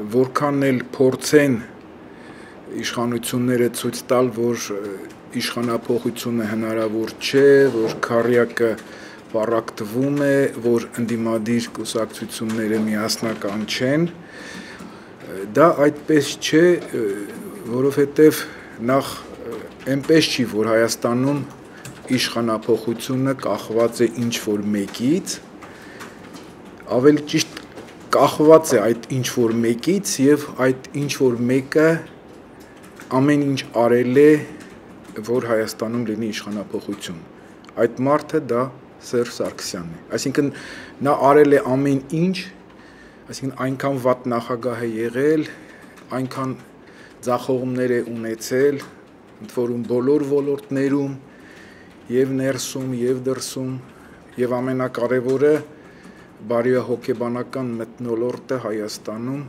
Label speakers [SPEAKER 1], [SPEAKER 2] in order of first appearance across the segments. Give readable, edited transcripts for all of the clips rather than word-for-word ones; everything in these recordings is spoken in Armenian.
[SPEAKER 1] որքան էլ փորձեն իշխանությունները ցույց տալ, որ իշխանափոխությունը հնարավոր չէ, որ քառյակը պառակտվում է, որ ընդդիմադիր կուսակցությունները միասնական չեն, դա այդպես չէ, որովհետև նախ այնպես չի, որ Հայաստանում իշխանափոխությունը կախված է ինչ-որ մեկից, ավելի ճիշտ կախված է այդ ինչ-որ մեկից և այդ ինչ-որ մեկը ամեն ինչ արել է, որ Հայաստանում լինի իշխանափոխություն։ Այդ մարդը դա Սերժ Սարգսյանն է։ Այսինքն նա արել է ամեն ինչ, այսինքն այնքան վատ նախագահ է եղել, այնքան ձախողումներ է ունեցել, ընդ որում բոլոր ոլորտներում, և ներսում, և դրսում, և ամենակարևորը բարոյահոգեբանական մթնոլորտը Հայաստանում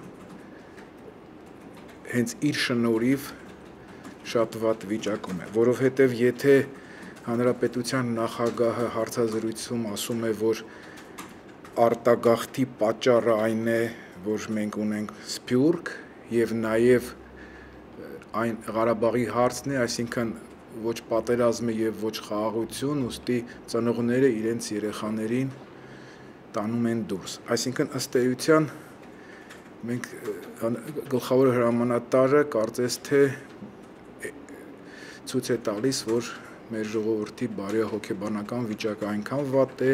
[SPEAKER 1] հենց իր շնորհիվ շատ վատ վիճակում է, որովհետև եթե Հանրապետության նախագահը հարցազրույցում ասում է, որ արտագաղթի պատճառը այն է, որ մենք ունենք Սփյուռք և նաև այն Ղարաբաղի հարցն է, այսինքն ոչ պատերազմ է և ոչ խաղաղություն, ուստի ծնողները իրենց երեխաներին տանում են դուրս։ Այսինքն ըստ էության մենք գլխավոր հրամանատարը կարծես թե ցույց է տալիս, որ մեր ժողովրդի բարոյահոգեբանական վիճակը այնքան վատ է,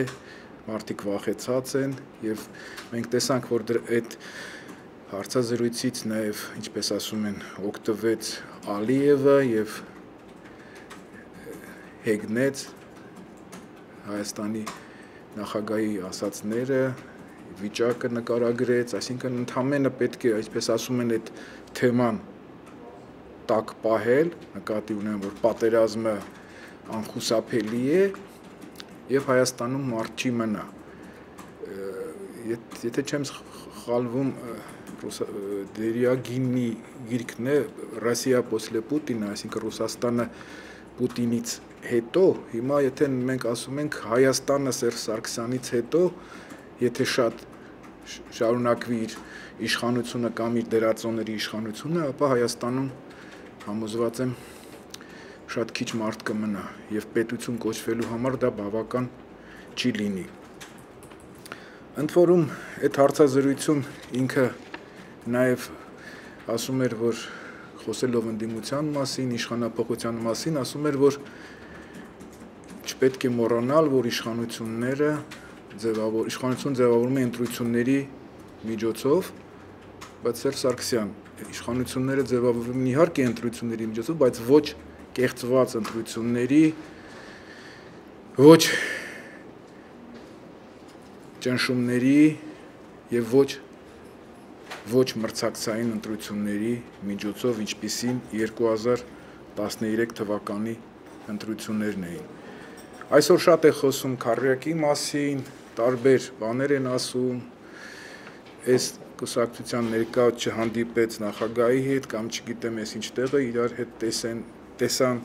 [SPEAKER 1] մարդիկ վախեցած են և մենք տեսանք, որ այդ հարցազրույցից նաև, ինչպես ասում են, օգտվեց Ալիևը և հեգնեց Հայաստանի նախագահի ասածները, վիճակը նկարագրեց, այսինքն ընդամենը պետք է, այսպես ասում են, այդ թեման տակ պահել, նկատի ունեմ, որ պատերազմը անխուսափելի է և Հայաստանում մարդ չի մնա։ Եթե չեմ սխալվում, Դերյագինի գիրքն է «Ռոսիա պոսլե Պուտինը», այսինքն Ռուսաստանը Պուտինից հետո, հիմա եթե մենք ասում ենք Հայաստանը Սերժ Սարգսյանից հետո, եթե շատ շարունակվի իր իշխանությունը կամ իր դերածողների իշխանությունը, ապա Հայաստանում համոզված եմ շատ քիչ մարդ կմնա և պետություն կոչվելու համար դա բավական չի լինի։ Ընդ որում այդ հարցազրույցում ինքը նաև ասում էր, որ խոսելով ընդդիմության մասին, իշխանափոխության մասին, ասում էր, որ չպետք է մոռանալ, որ իշխանություն ձևավորվում է ընտրությունների միջոցով, բայց Սերժ Սարգսյան, իշխանությունները ձևավորվում են իհարկե ընտրությունների միջոցով, բայց ոչ կեղծված ընտրությունների, ոչ ճնշումների և ոչ մրցակցային ընտրությունների միջոցով, ինչպիսին 2013 թվականի ընտրություններն էին։ Այսօր շատ է խոսում քառյակի մասին, տարբեր բաներ են ասում, այս կուսակցության ներկա չհանդիպեց նախագահի հետ կամ չգիտեմ ես ինչ տեղը իրար հետ տեսան,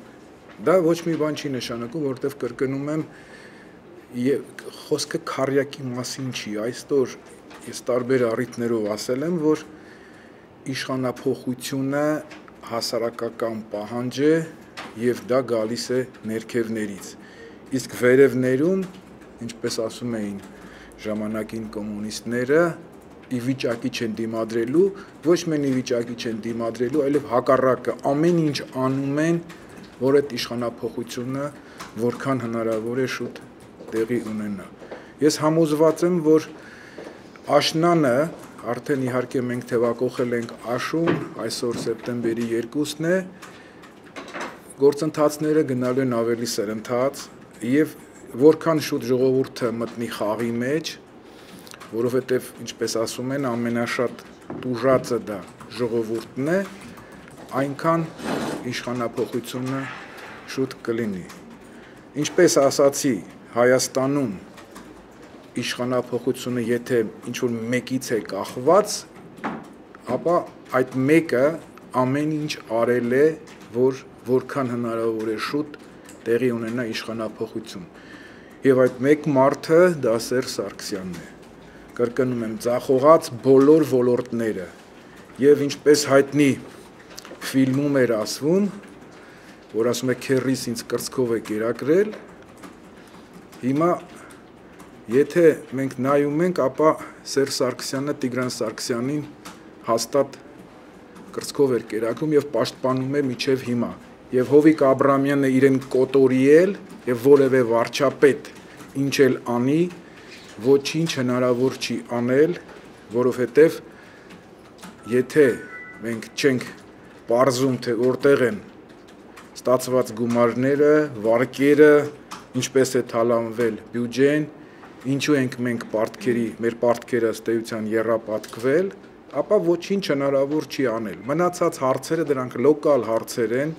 [SPEAKER 1] դա ոչ մի բան չի նշանակում, որովհետև կրկնում եմ, խոսքը քառյակի մասին չի, այսօր ես տարբեր առիթներով ասել եմ, որ իշխանափոխությունը հասարակական պահանջ է և դա գալիս է ներքևներից, իսկ վերևներում, ինչպես ասում էին ժամանակին կոմունիստները, ի վիճակի չեն դիմադրելու, ոչ միայն ի վիճակի չեն դիմադրելու, այլև հակառակը ամեն ինչ անում են, որ այդ իշխանափոխությունը որքան հնարավոր է շուտ տեղի ունենա։ Ես համոզված եմ, որ աշնանը, արդեն իհարկե մենք թևակոխել ենք աշուն, այսօր սեպտեմբերի 2-ն է, գործընթացները գնալու են ավելի սրընթաց և որքան շուտ ժողովուրդը մտնի խաղի մեջ, որովհետև, ինչպես ասում են, ամենաշատ տուժածը դա ժողովուրդն է, այնքան իշխանափոխությունը շուտ կլինի։ Ինչպես ասացի, Հայաստանում իշխանափոխությունը եթե ինչ-որ մեկից է կախված, ապա այդ մեկը ամեն ինչ արել է, որ որքան հնարավոր է շուտ տեղի ունենա իշխանափոխություն։ Եվ այդ մեկ մարդը դա Սերժ Սարգսյանն է։ Կրկնում եմ, ձախողած բոլոր ոլորտները եւ ինչպես հայտնի ֆիլմում էր ասվում, որ ասում է քերրիս ինձ կրծքով է կերակրել, հիմա եթե մենք նայում ենք, ապա Սերժ Սարգսյանը Տիգրան Սարգսյանին հաստատ կրծքով էր կերակրում եւ պաշտպանում է մինչեւ հիմա։ Եվ Հովիկ Աբրամյանը իրեն կոտորիել եւ որևէ վարչապետ ինչ էլ անի, ոչինչ հնարավոր չի անել, որովհետեւ եթե մենք չենք պարզում, թե որտեղ են ստացված գումարները, վարկերը, ինչպես է թալանվել բյուջեն, ինչու ենք մենք մեր պարտքերը ըստ էության եռապատկվել, ապա ոչինչ հնարավոր չի անել։ Մնացած հարցերը դրանք լոկալ հարցեր են,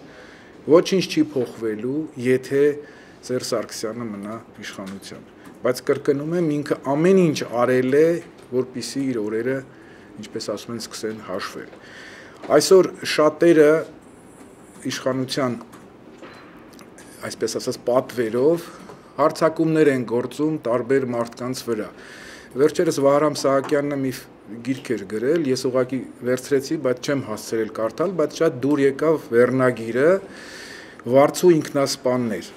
[SPEAKER 1] ոչինչ չի փոխվելու, եթե Սերժ Սարգսյանը մնա իշխանության։ Բայց կրկնում եմ, ինքը ամեն ինչ արել է, որպեսզի իր օրերը, ինչպես ասում են, սկսեն հաշվել։ Այսօր շատերը իշխանության, այսպես ասած, պատվերով հարձակումներ են գործում տարբեր մարդկանց վրա։ Վերջերս Վահրամ Սահակյանն մի գիրք էր գրել, ես ուղղակի վերցրեցի, բայց չեմ հասցրել կարդալ, բայց շատ դուր եկավ վերնագիրը Վարձու ինքնասպաններ։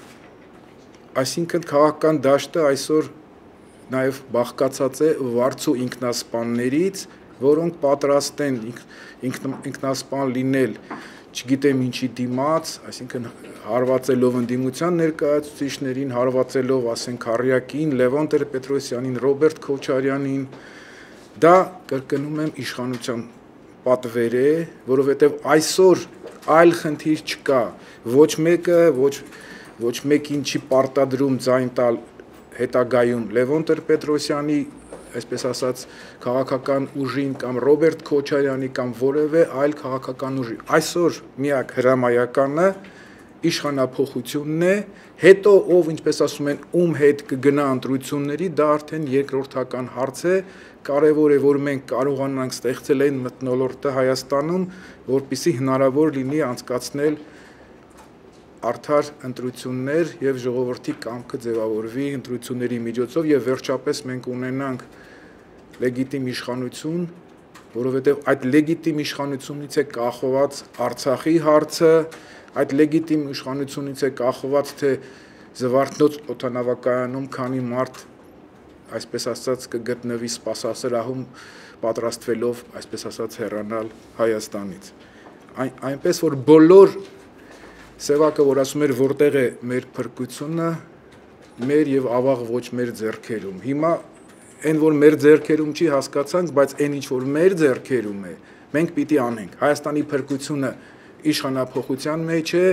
[SPEAKER 1] Այսինքն քաղաքական դաշտը այսօր նաև բաղկացած է վարձու ինքնասպաններից, որոնք պատրաստ են ինքնասպան լինել, չգիտեմ ինչի դիմաց, այսինքն հարվածելով ընդդիմության ներկայացուցիչներին, հարվածելով, ասենք, Քարյակին, Լևոն Տեր-Պետրոսյանին, Ռոբերտ Քոչարյանին, դա կրկնում եմ իշխանության պատվեր է, որովհետև այսօր այլ խնդիր չկա, ոչ մեկը, ոչ մեկին չի պարտադրում ձայն տալ հետագայում Լևոն Տեր-Պետրոսյանի, այսպես ասած, քաղաքական ուժին կամ Ռոբերտ Քոչարյանի կամ որևէ այլ քաղաքական ուժի։ Այսօր միակ հրամայականը իշխանափոխությունն է, հետո ով, ինչպես ասում են, ում հետ կգնա ընտրությունների, դա արդեն երկրորդական հարց է, կարևոր է, որ մենք կարողանանք ստեղծել այն մթնոլորտը Հայաստանում, որպեսզի հնարավոր լինի անցկացնել արդար ընտրություններ եւ ժողովրդի կամքը ձևավորվի ընտրությունների միջոցով եւ վերջապես մենք ունենանք լեգիտիմ իշխանություն, որովհետեւ այդ լեգիտիմ իշխանությունից է կախված Արցախի հարցը, այդ լեգիտիմ իշխանությունից է կախված, թե Զվարթնոց օդանավակայանում քանի մարդ, այսպես ասած, կգտնվի սպասասրահում պատրաստվելով, այսպես ասած, հեռանալ Հայաստանից։ Այնպես որ բոլոր սևակը, որ ասում էր, որտեղ է մեր փրկությունը, մեր եւ ավաղ ոչ մեր ձեռքերում։ Հիմա այն, որ մեր ձեռքերում չի, հասկացանք, բայց այն ինչ որ մեր ձեռքերում է, մենք պիտի անենք։ Հայաստանի փրկությունը իշխանափոխության մեջ է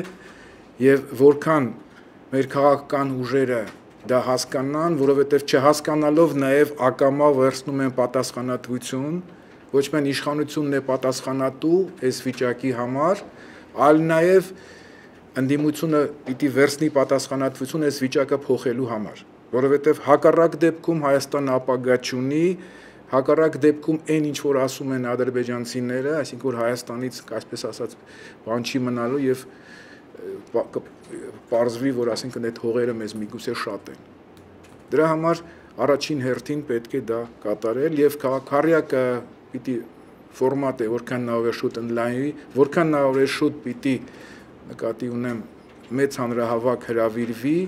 [SPEAKER 1] եւ որքան մեր քաղաքական ուժերը դա հասկանան, որովհետեւ չհասկանալով նաեւ ակամա վերցնում են պատասխանատվություն, ոչ միայն իշխանությունն է պատասխանատու այս վիճակի համար, այլ նաեւ ընդդիմությունը պիտի վերցնի պատասխանատվություն այս վիճակը փոխելու համար, որովհետեւ հակառակ դեպքում Հայաստանը ապագա չունի, հակառակ դեպքում այն ինչ որ ասում են ադրբեջանցիները, այսինքն որ Հայաստանից, այսպես ասած, բան չի մնալու եւ պարզվի, որ ասինքն այդ հողերը մեզ միգուցե շատ են։ Դրա համար առաջին հերթին պետք է դա կատարել եւ Քարյակը պիտի ֆորմատը որքան նավեր շուտ ընդլայնվի, որքան նավեր շուտ պիտի նկատի ունեմ մեծ հանրահավաք հրավիրվի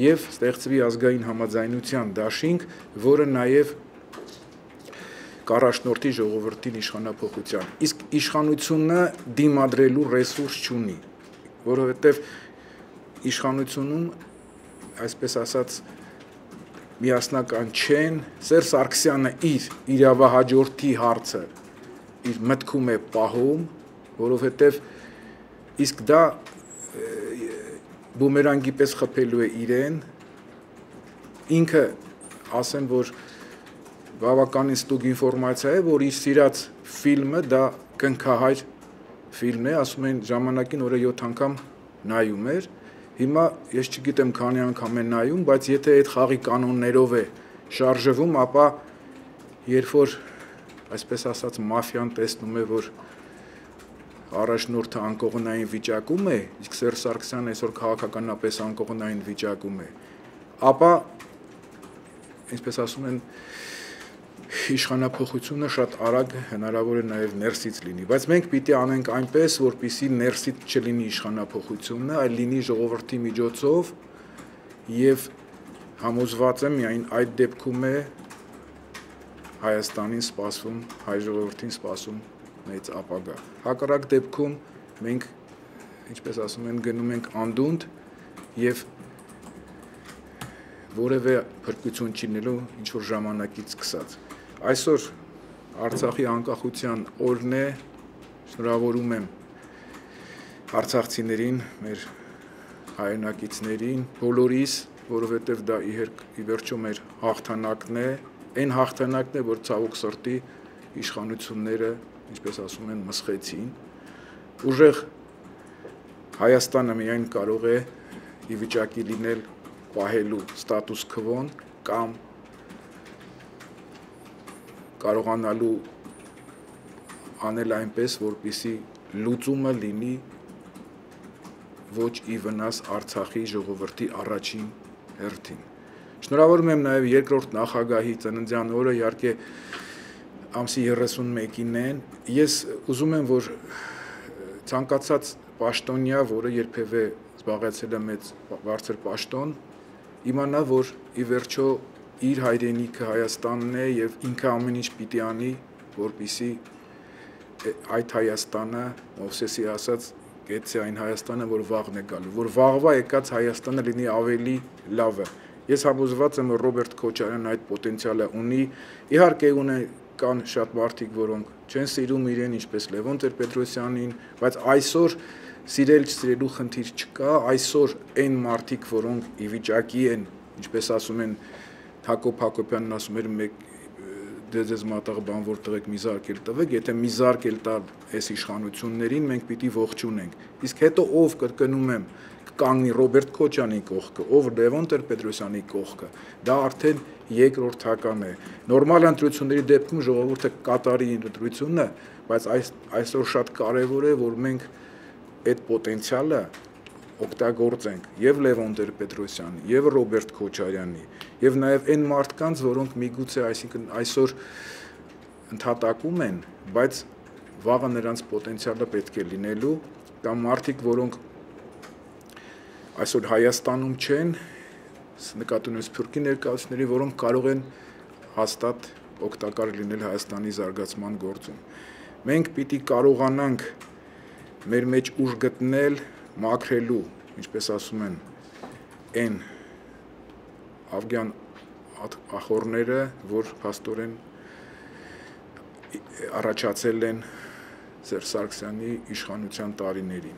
[SPEAKER 1] եւ ստեղծվի ազգային համաձայնության դաշինք, որը նաեւ կառաջնորդի ժողովրդին իշխանափոխության։ Իսկ իշխանությունը դիմադրելու ռեսուրս չունի, որովհետեւ իշխանությունում, այսպես ասած, միասնական չեն, Սերժ Սարգսյանը իր իրավահաջորդի հարցը իր մտքում է պահում, որովհետեւ իսկ դա բումերանգի պես խփելու է իրեն, ինքը ասեմ, որ բավականին ստուգ ինֆորմացիա է, որ իր սիրած ֆիլմը դա կնքահայր ֆիլմ է, ասում են ժամանակին օրը 7 անգամ նայում էր, հիմա ես չգիտեմ քանի անգամ է նայում, բայց եթե այդ խաղի կանոններով է շարժվում, ապա երբ որ, այսպես ասած, մաֆիան տեսնում է, որ առաջնորդը անկողնային վիճակում է, իսկ Սերժ Սարգսյանը այսօր քաղաքականապես անկողնային վիճակում է, ապա, ինչպես ասում են, իշխանափոխությունը շատ արագ հնարավոր է նաև ներսից լինի, բայց մենք պիտի անենք այնպես, որպեսզի ներսից չլինի իշխանափոխությունը, այլ լինի ժողովրդի միջոցով եւ համոզված եմ միայն այդ դեպքում է Հայաստանին սպասում, հայ ժողովրդին սպասում մեծ ապագա։ Հակառակ դեպքում մենք, ինչպես ասում են, գնում ենք անդունդ եւ որևէ փրկություն չի լինելու ինչ որ ժամանակից սկսած։ Այսօր Արցախի անկախության օրն է, շնորհավորում եմ արցախցիներին, մեր հայրենակիցներին, բոլորիս, որովհետև դա ի վերջո մեր հաղթանակն է, այն հաղթանակն է, որ ցավոք սրտի իշխանությունները, ինչպես ասում են, մսխեցին։ Ուժեղ Հայաստանը միայն կարող է ի վիճակի լինել պահելու ստատուս քվոն կամ կարողանալու անել այնպես, որպեսզի լուծումը լինի ոչ ի վնաս Արցախի ժողովրդի առաջին հերթին։ Շնորհավորում եմ նաև երկրորդ նախագահի ծննդյան օրը, իհարկե ամսի 31-ին են։ Ես ուզում եմ, որ ցանկացած պաշտոնյա, որը երբևէ զբաղեցել է մեծ բարձր պաշտոն, իմանա, որ ի վերջո իր հայրենիքը Հայաստանն է եւ ինքը ամեն ինչ պիտի անի, որպեսզի այդ Հայաստանը, Մովսեսի ասած, գեցե այն Հայաստանը, որ վաղն է գալու, որ վաղվա եկած Հայաստանը լինի ավելի լավը։ Ես համոզված եմ, որ Ռոբերտ Քոչարյանն այդ պոտենցիալը ունի, իհարկե կան շատ մարդիկ, որոնք չեն սիրում իրեն, ինչպես Լևոն Տեր-Պետրոսյանին, բայց այսօր սիրել-չսիրելու խնդիր չկա, այսօր այն մարդիկ, որոնք ի վիճակի են, ինչպես ասում են, Հակոբ Հակոբյանն ասում էր մեկ դեզ մատաղ բան որտեղ եք մի զարկ էլ տվեք, եթե մի զարկ էլ տալ այս իշխանություններին, մենք պիտի ողջունենք։ Իսկ հետո ով կրկնում եմ, կանգնի Ռոբերտ Քոչյանի կողքը, ով Լևոն Տեր-Պետրոսյանի կողքը, դա արդեն երկրորդական է։ Նորմալ ընտրությունների դեպքում ժողովուրդը կատարի ընտրությունը, բայց այսօր շատ կարևոր է, որ մենք այդ պոտենցիալը օգտագործենք եւ Լևոն Տեր-Պետրոսյանի, եւ Ռոբերտ Քոչարյանի, եւ նաեւ այն մարդկանց, որոնք միգուցե այսինքն այսօր ընդհատակում են, բայց վաղը նրանց պոտենցիալը պետք է լինելու, կամ մարդիկ, որոնք այսօր Հայաստանում չեն, նկատի ունեմ սփյուռքի ներկայացուցիչների, որոնք կարող են հաստատ օգտակար լինել Հայաստանի զարգացման գործում։ Մենք պիտի կարողանանք մեր մեջ ուժ գտնել մաքրելու, ինչպես ասում են, այն ավգյան ախորները, որ փաստորեն առաջացել են Սերժ Սարգսյանի իշխանության տարիներին։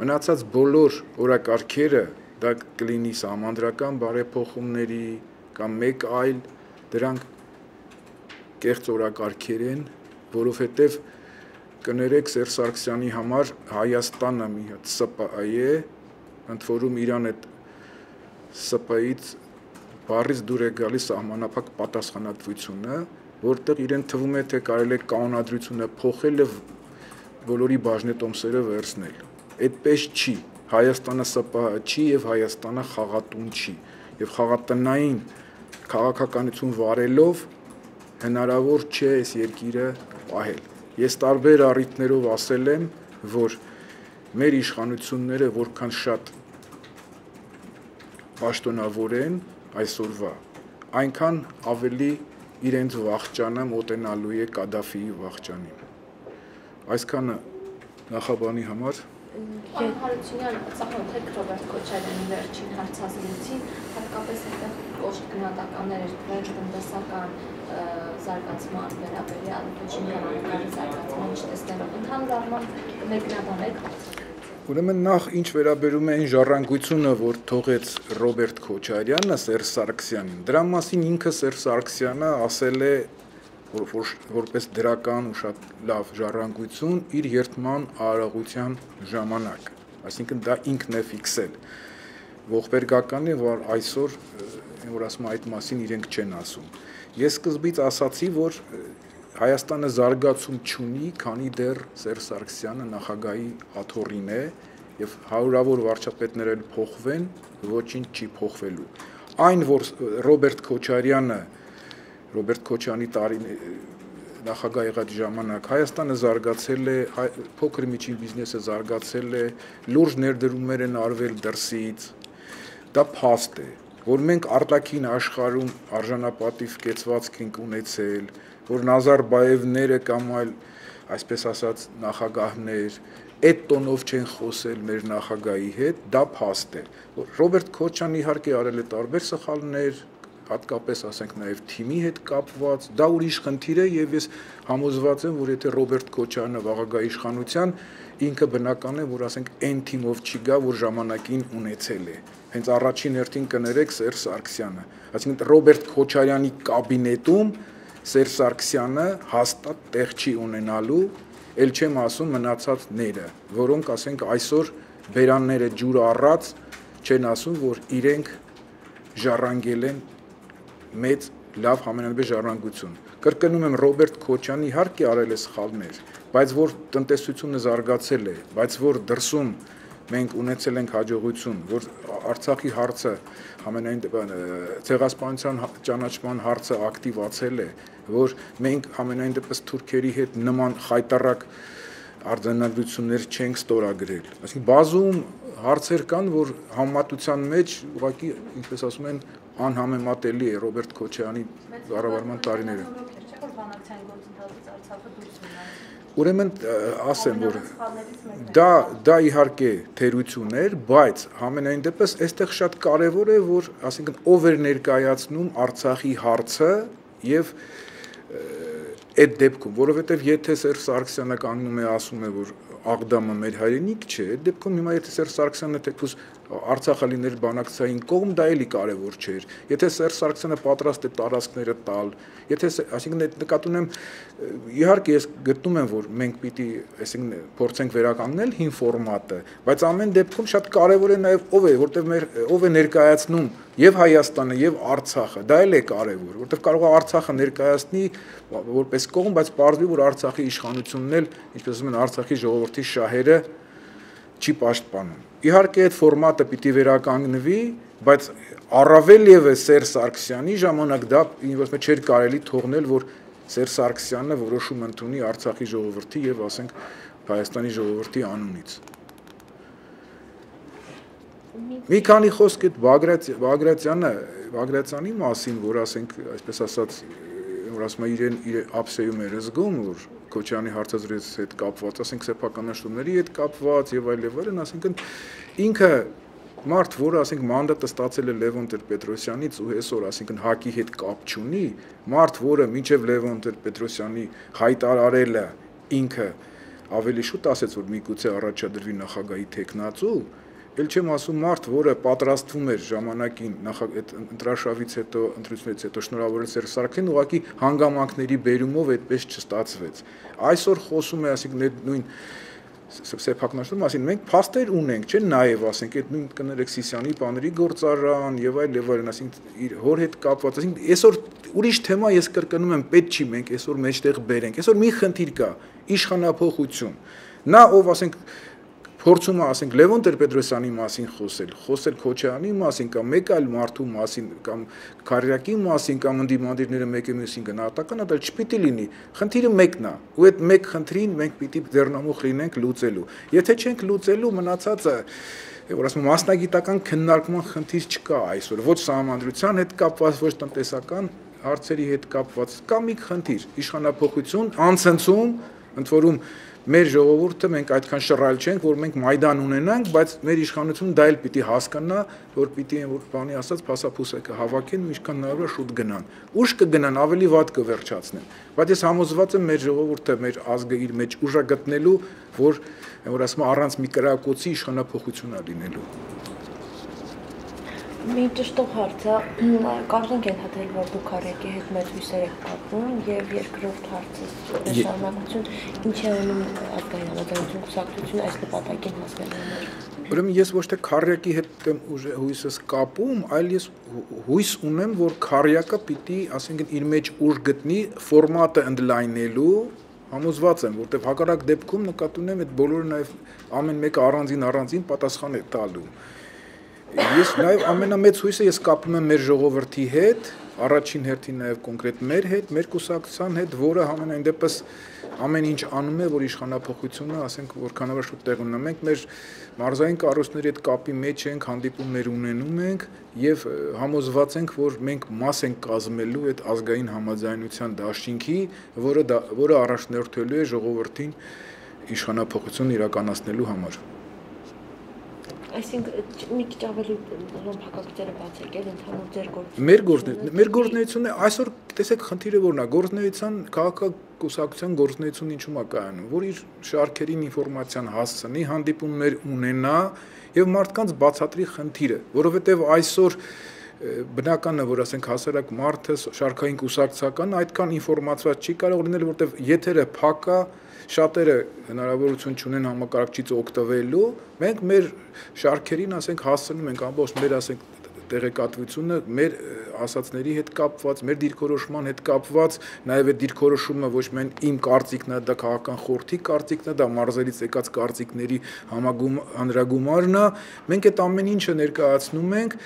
[SPEAKER 1] Մնացած բոլոր օրակարգերը, դա կլինի սահմանադրական բարեփոխումների կամ մեկ այլ, դրանք կեղծ օրակարգեր են, որովհետև կներեք Սերժ Սարգսյանի համար Հայաստանը մի հատ ՍՊԸ է, ընդ որում իրան այդ ՍՊԸ-ից բառից դուր է գալիս սահմանափակ պատասխանատվությունը, որտեղ իրեն թվում է, թե կարելի է կանոնադրությունը փոխել եւ բոլորի բաժնետոմսերը վերցնել։ Այդպես չի։ Հայաստանը ՍՊԸ չի եւ Հայաստանը խաղատուն չի։ Եվ խաղատնային քաղաքականություն վարելով հնարավոր չէ այս երկիրը պահել։ Ես տարբեր առիթներով ասել եմ, որ մեր իշխանությունները որքան շատ պաշտոնավոր են այսօրվա, այնքան ավելի իրենց վախճանը մոտենալու է Կադաֆիի վախճանին։ Այսքանը նախաբանի համար։
[SPEAKER 2] Պարոն Հարությունյան, ծանոթ եք Ռոբերտ Քոչարյանի վերջին հարցազրույցին, հատկապես այնտեղ կոշտ գնահատականներ էր տվել տնտեսական զարգացման վերաբերյալ, ոչ ինքնավարականի զարգացման չտեսնելով, ընդհանուր առմամբ մեկնաբանեք հարցը։
[SPEAKER 1] Ուրեմն նախ ինչ վերաբերում է այն ժառանգությունը, որ թողեց Ռոբերտ Քոչարյանը Սերժ Սարգսյանին, դրա մասին ինքը Սերժ Սարգսյանը ասել է որպես դրական ու շատ լավ ժառանգություն իր երթման արարողության ժամանակ, այսինքն դա ինքն է ֆիքսել։ Ողբերգական է, որ այսօր որ ասում այդ մասին իրենք չեն ասում։ Ես սկզբից ասացի, որ Հայաստանը զարգացում չունի, քանի դեռ Սերժ Սարգսյանը նախագահի աթոռին է եւ հարյուրավոր վարչապետներ էլ փոխվեն, ոչինչ չի փոխվելու։ Այն, որ Ռոբերտ Քոչարյանը Ռոբերտ Քոչյանի տարին նախագահ եղած ժամանակ Հայաստանը զարգացել է, փոքր միջին բիզնեսը զարգացել է, լուրջ ներդրումներ են արվել դրսից, դա փաստ է, որ մենք արտաքին աշխարհում արժանապատիվ կեցվածք ենք ունեցել, որ Նազարբաևները կամ այլ, այսպես ասած, նախագահներ այդ տոնով չեն խոսել մեր նախագահի հետ, դա փաստ է։ Ռոբերտ Քոչյանը իհարկե արել է տարբեր սխալներ, հատկապես ասենք նաև թիմի հետ կապված, դա ուրիշ խնդիր է եւ ես համոզված եմ, որ եթե Ռոբերտ Քոչյանը վաղագա իշխանության, ինքը բնական է, որ ասենք այն թիմով չի գա, որ ժամանակին ունեցել է։ Հենց առաջին հերթին կներեք Սերժ Սարգսյանը, այսինքն Ռոբերտ Քոչարյանի կաբինետում Սերժ Սարգսյանը հաստատ տեղ չի ունենալու, ել չեմ ասում մնացածները, որոնք ասենք այսօր բերանները ջուր առած չեն ասում, որ իրենք ժառանգել են մեծ լավ համենայնիվ ժառանգություն։ Կրկնում եմ, Ռոբերտ Քոչյանը իհարկե արել է սխալներ, բայց որ տնտեսությունը զարգացել է, բայց որ դրսում մենք ունեցել ենք հաջողություն, որ Արցախի հարցը համենայն ցեղասպանության ճանաչման հարցը ակտիվացել է, որ մենք համենայն դեպս թուրքերի հետ նման խայտառակ արձանագրություններ չենք ստորագրել։ Այսինքն բազում հարցեր կան, որ համեմատության մեջ ուղղակի, ինչպես ասում են, անհամեմատելի է Ռոբերտ Քոչյանի կառավարման տարիները։ Ուրեմն ասեմ, որ դա իհարկե թերություն էր, բայց համենայն դեպս այստեղ շատ կարևոր է, որ ասենք ով էր ներկայացնում Արցախի հարցը եւ այդ դեպքում, որովհետեւ եթե Սերժ Սարգսյանը կանգնում է ասում է, որ Աղդամը մեր հայրենիք չէ, այդ դեպքում հիմա եթե Սերժ Սարգսյանը թեկուզ Արցախը լիներ բանակցային կողմ, դա էլի կարևոր չէր։ Եթե Սերժ Սարգսյանը պատրաստ է տարածքները տալ, եթե այսինքն նկատի ունեմ, իհարկե ես գտնում եմ, որ մենք պիտի այսինքն փորձենք վերականգնել հին ֆորմատը, բայց ամեն դեպքում շատ կարևոր է նաև ով է, որտեղ ով է ներկայացնում եւ Հայաստանը եւ Արցախը, դա էլ է կարևոր, որտեղ կարող է Արցախը ներկայացնի որպես կողմ, բայց պարզվի, որ Արցախի իշխանությունն էլ, ինչպես ասում են, Արցախի ժողովրդի շահերը չի պաշտպանում։ Իհարկե այդ ֆորմատը պիտի վերականգնվի, բայց առավել եւս Սերժ Սարգսյանի ժամանակ դա ինձ չէր կարելի թողնել, որ Սերժ Սարգսյանը որոշում ընդունի Արցախի ժողովրդի եւ ասենք Հայաստանի ժողովրդի անունից։ Մի քանի խոսք այդ Բագրատյանի մասին, որ ասենք, այսպես ասած, որ ասում է իրեն ափսեում էր զգում, որ Քոչյանի հարցազրույցի հետ կապված, ասենք սեփականաշտումների հետ կապված եւ այլն, ասենք ինքը մարդ, որը ասենք մանդատը ստացել է Լևոն Տեր-Պետրոսյանից ու այսօր ասենք ՀԱԿ-ի հետ կապ չունի, մարդ, որը մինչև Լևոն Տեր-Պետրոսյանի հայտարարելը ինքը ավելի շուտ ասեց, որ միգուցե առաջադրվի նախագահի թեկնածու, ել չեմ ասում մարդ, որը պատրաստվում էր ժամանակին այդ ընտրաշավից հետո, ընտրությունից հետո շնորհավորել Սերժ Սարգսյանին, ուղղակի հանգամանքների բերումով այդպես չստացվեց։ Այսօր խոսում է, ասենք նույն սեփականաշտում, ասին մենք փաստեր ունենք, չէ՞, նաև ասենք այդ նույն կներեք Սիսյանի բաների գործարան եւ այլն, ասենք իր հոր հետ կապված, ասենք այսօր ուրիշ թեմա ես կրկնում եմ, պետք չի մենք այսօր մեջտեղ բերենք։ Այսօր մի խնդիր կա, իշխանափոխություն։ Նա ով ասենք փորձում է ասենք Լևոն Տեր-Պետրոսյանի մասին խոսել Քոչյանի մասին կամ մեկ այլ մարդու մասին կամ Քարյակի մասին կամ ընդդիմադիրները մեկը մյուսին գնահատական, դա չպիտի լինի։ Խնդիրը մեկն է, ու այդ մեկ խնդրին մենք պիտի ձեռնամուխ լինենք լուծելու։ Եթե չենք լուծելու, մնացածը որ ասում մասնագիտական քննարկման խնդիր չկա այսօր, ոչ սահմանադրության հետ կապված, ոչ տնտեսական հարցերի հետ կապված, կա մի խնդիր, իշխանափոխություն, անցնցում, ընդ որում մեր ժողովուրդը մենք այդքան շռայլ չենք, որ մենք Մայդան ունենանք, բայց մեր իշխանությունը դա էլ պիտի հասկանա, որ պիտի որ բանի ասած փասափուսը հավաքեն, ինչքան հնարավոր է շուտ գնան։ Ուշ կգնան, ավելի վատ կվերջացնեն։ Բայց ես համոզված եմ մեր ժողովուրդը, մեր ազգը իր մեջ ուժ է գտնելու, որ ասում առանց մի կրակոցի իշխանափոխություն է լինելու։
[SPEAKER 3] Մի ճշտող հարց է, կարող ենք ենթադրել, որ դուք Քարյակի հետ մեծ հույսեր եք կապում եւ երկրորդ հարցը շարունակություն, ինչ է ունում ազգային համաձայնություն կուսակցությունը այս նպատակին հասնելու համար։
[SPEAKER 1] Ուրեմն ես ոչ թե Քարյակի հետ եմ հույսս կապում, այլ ես հույս ունեմ, որ Քարյակը պիտի, ասենք իր մեջ ուժ գտնի ֆորմատը ընդլայնելու, համոզված եմ, որտեղ հակառակ դեպքում նկատի ունեմ այդ բոլորը նաեւ ամեն մեկը առանձին պատասխան է տալու։ Ես նաև ամենամեծ հույսը ես կապում եմ մեր ժողովրդի հետ, առաջին հերթին նաև կոնկրետ մեր հետ, մեր կուսակցության հետ, որը համենայն դեպս ամեն ինչ անում է, որ իշխանափոխությունը, ասենք, որքանով շուտ տեղ ունենա։ Մենք մեր մարզային կառույցների հետ կապի մեջ ենք, հանդիպումներ ունենում ենք եւ համոզված ենք, որ մենք մաս ենք կազմելու այդ ազգային համաձայնության դաշինքի, որը առաջնորդելու է ժողովրդին իշխանափոխություն իրականացնելու համար։
[SPEAKER 3] Այսինքն մի քիչ ավելի փակագծերը բացեք, ընդհանուր ձեր
[SPEAKER 1] մեր գործունեությունը այսօր տեսեք խնդիրը որն է, գործունեության քաղաքակուսակցության գործունեությունը ինչու՞մ է կայանում, որ իր շարքերին ինֆորմացիան հասցնի, հանդիպումներ ունենա եւ մարդկանց բացատրի խնդիրը, որովհետեւ այսօր բնական է, որ ասենք հասարակ մարդը շարքային կուսակցական այդքան ինֆորմացված չի կարող լինել, որովհետեւ եթերը փակ է, շատերը հնարավորություն չունեն համակարգչից օգտվելու, մենք մեր շարքերին ասենք հասցնում ենք ամբողջ մեր ասենք տեղեկատվությունը մեր ասածների հետ կապված, մեր դիրքորոշման հետ կապված, նաև այդ դիրքորոշումը ոչ միայն իմ կարծիքն է, դա քաղաքական խորհրդի կարծիքն է, դա մարզերից եկած կարծիքների հանրագումարն է, մենք այդ ամեն ինչը ներկայացնում ենք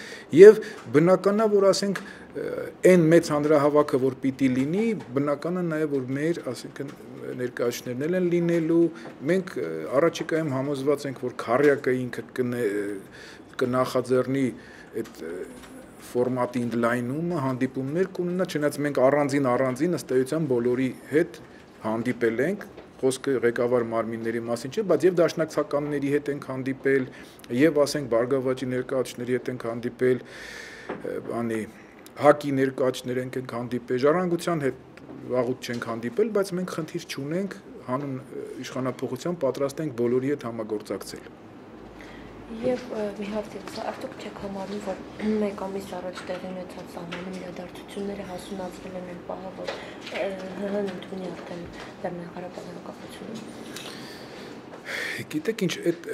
[SPEAKER 1] եւ բնական է, որ ասենք այն մեծ հանրահավաքը, որ պիտի լինի, բնական է նաև որ մեր, ասենք ներկայացներն են լինելու, մենք առաջիկայում համոզված ենք, որ քարյակը ինքը կնախաձեռնի այդ ֆորմատի ընդլայնումը, հանդիպումներ կունենա, չնայած մենք առանձին ըստ էության բոլորի հետ հանդիպել ենք, խոսքը ղեկավար մարմինների մասին չէ, բայց եւ դաշնակցականների հետ ենք հանդիպել, եւ ասենք Բարգավաճի ներկայացուցիչների հետ ենք հանդիպել, ՀԱԿ-ի ներկայացուցիչներ ենք հանդիպել, Ժառանգության հետ վաղուց չենք հանդիպել, բայց մենք խնդիր չունենք հանուն իշխանափոխության պատրաստ ենք բոլորի հետ համագործակցել։
[SPEAKER 3] Եվ մի հարց է, արդյոք չեք համարում, որ մեկ ամիս առաջ տեղի ունեցած սահմանում իրադարձությունները հասունացրել են այն պահը, որ ՀՀ-ն ընդունի արդեն Լեռնային անկախությունը։
[SPEAKER 1] Գիտեք ինչ, այդ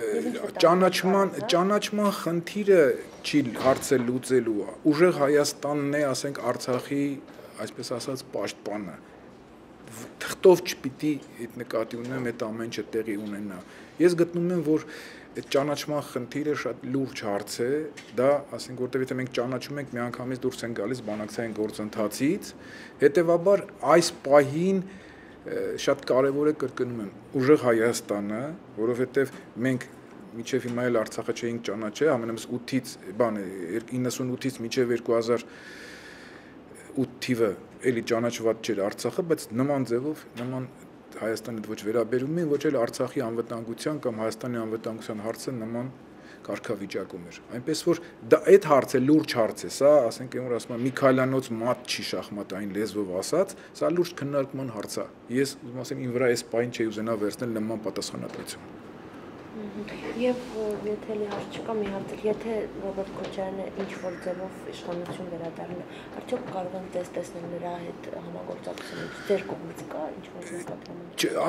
[SPEAKER 1] ճանաչման խնդիրը չի հարցը լուծելու, ուժեղ Հայաստանն է, ասենք Արցախի, այսպես ասած, պաշտպանը։ Թղթով չպիտի այդ նկատի ունեմ այդ ամեն ինչը տեղի ունենա։ Ես գտնում եմ, որ այդ ճանաչման խնդիրը շատ լուրջ հարց է, դա, ասենք, որտեղ եթե մենք ճանաչում ենք, միանգամից դուրս են գալիս բանակցային գործընթացից, հետևաբար այս պահին շատ կարևոր է կրկնում եմ ուժեղ Հայաստանը, որովհետև մենք մինչև հիմա էլ Արցախը չէինք ճանաչել, ամենամս 8-ից, 98-ից մինչև 2008 թիվը էլի ճանաչված չէր Արցախը, բայց նման ձևով, նման Հայաստանի ոչ վերաբերում են, ոչ էլ Արցախի անվտանգության կամ Հայաստանի անվտանգության հարցը նման կարգավիճակում էր։ Այնպես որ դա այդ հարցը լուրջ հարց է, սա, ասենք, որ ասում եմ Միքայելյանոց մատ չի շախմատային լեզվով ասած, սա լուրջ քննարկման հարց է։ Ես ուզում ասեմ իմ վրա այս պայն չի ուզենա վերցնել նման պատասխանատվություն։
[SPEAKER 3] Եվ եթե լիհարց չկա մի հարց, եթե Ռոբերտ Քոչարյանը ինչ-որ ձևով իշխանություն վերադառնա, արդյոք կարող են տեսնել նրա հետ համագործակցություն, ձեր կողմից կա ինչ-որ նկատառում։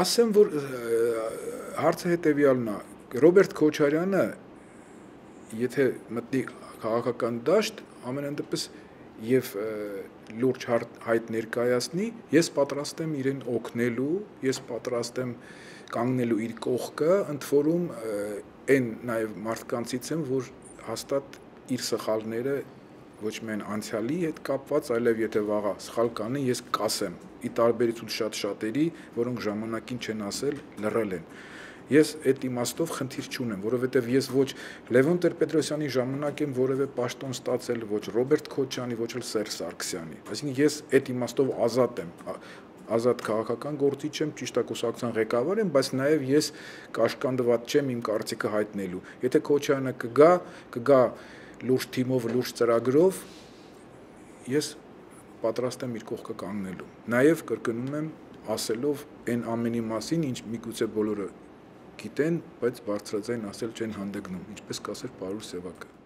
[SPEAKER 1] Ասեմ, որ հարցը հետևյալն է, Ռոբերտ Քոչարյանը եթե մտնի քաղաքական դաշտ, ամենայն դեպս եւ լուրջ հայտ ներկայացնի, ես պատրաստ եմ իրեն օգնելու, ես պատրաստ եմ կանգնելու իր կողքը, ընդ որում այն նաեւ մարդկանցից եմ, որ հաստատ իր սխալները ոչ միայն անցյալի հետ կապված, այլև եթե վաղը սխալ կանի, ես կասեմ, ի տարբերություն շատերի, որոնք ժամանակին չեն ասել, լռել են։ Ես այդ իմաստով խնդիր չունեմ, որովհետև ես ոչ Լևոն Տեր-Պետրոսյանի ժամանակ եմ որևէ պաշտոն ստացել, ոչ Ռոբերտ Քոչյանի, ոչ էլ Սերժ Սարգսյանի։ Այսինքն ես այդ իմաստով ազատ եմ, ազատ քաղաքական գործիչ եմ, ճիշտ է կուսակցության ղեկավար եմ, բայց նաև ես կաշկանդված չեմ իմ կարծիքը հայտնելու։ Եթե Քոչյանը կգա լուրջ թիմով, լուրջ ծրագրով, ես պատրաստ եմ իր կողքը կանգնելու։ Նաև կրկնում եմ ասելով այն ամենի մասին, ինչ միգուցե բոլորը գիտեն, բայց բարձրաձայն ասել չեն հանդգնում, ինչպես կասեր Պարուլ Սևակը։